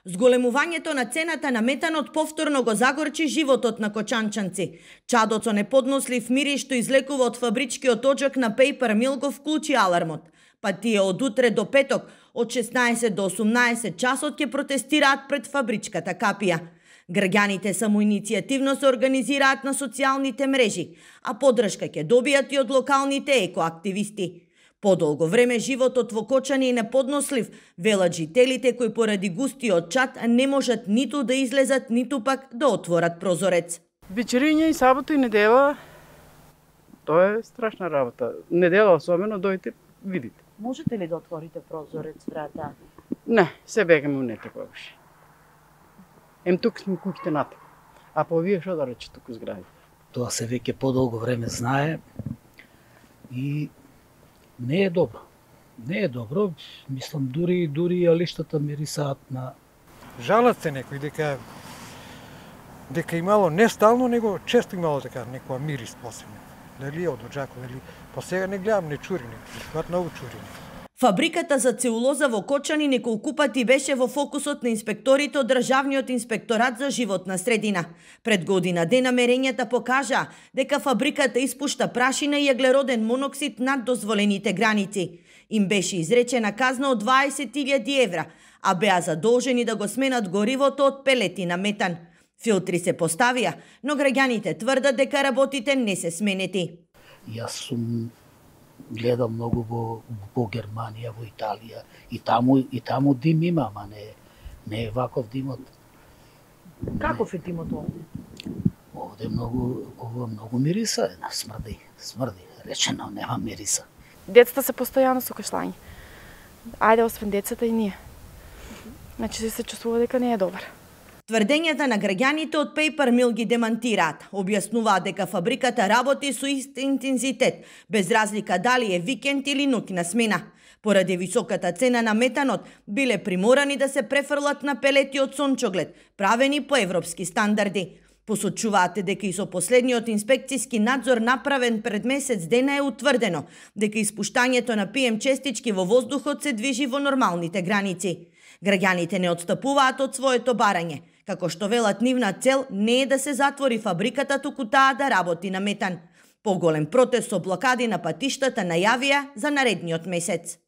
Зголемувањето на цената на метанот повторно го загорчи животот на кочанчанци. Чадот со неподнослив мирис што излекува од фабричкиот оджак на Paper Mill го вклучи алармот. Па тие од утре до петок, од 16 до 18 часот ќе протестираат пред фабричката капија. Граѓаните самоиницијативно се организираат на социјалните мрежи, а поддршка ќе добијат и од локалните екоактивисти. Подолго време животот во Кочани е неподнослив, велат жителите кои поради густиот чад не можат ниту да излезат, ниту пак да отворат прозорец. Вечериња и сабота и недела, тоа е страшна работа. Недела особено, дојдете, видите. Можете ли да отворите прозорец, брата? Не, се бегаме унете повеќе. Тук сме куќите натаму. А по вие што да рече туку згради? Тоа се веќе подолго време знае и не е добро. Не е добро, мислам дури алиштата мирисаат на... Жалат се некои дека имало не стално, него често имало така некоја мирис посебно. Дали од оджако, дали... Па сега не гледам, не чури, не многу чури. Фабриката за целулоза во Кочани неколку пати беше во фокусот на инспекторите од Државниот инспекторат за животна средина. Пред година дена мерењата покажаа дека фабриката испушта прашина и еглероден моноксид над дозволените граници. Им беше изречена казна од 20.000 евра, а беа задолжени да го сменат горивото од пелети на метан. Филтри се поставија, но граѓаните тврдат дека работите не се сменети. Јас сум гледал многу во Германија, во Италија, и таму дим има, ама не е ваков димот. Каков е димот овде? Овде многу мириса, смрди, речено, нема мириса. Децата се постојано со кашлање. Ајде, освен децата и ние. Значи се чувствува дека не е добар. Тврдењата на граѓаните од Paper Mill ги демантираат. Објаснуваат дека фабриката работи со ист интензитет, без разлика дали е викенд или ноќна смена. Поради високата цена на метанот, биле приморани да се префрлат на пелети од сончоглед, правени по европски стандарди. Посочуваате дека и со последниот инспекцијски надзор направен пред месец дена е утврдено дека испуштањето на PM честички во воздухот се движи во нормалните граници. Граѓаните не отстапуваат од своето барање, како што велат нивна цел не е да се затвори фабриката, туку таа да работи на метан. Поголем протест со блокади на патиштата најавија за наредниот месец.